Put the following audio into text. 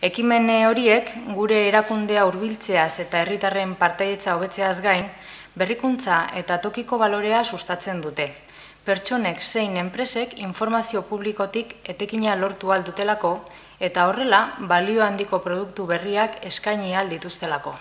Ekimen horiek gure erakundea hurbiltzeaz eta herritarren partaidetza hobetzeaz gain, berrikuntza eta tokiko balorea sustatzen dute. Pertsonek zein enpresek informazio publikotik etekina lortu ahal dutelako eta horrela balio handiko produktu berriak eskaini ahal dituztelako.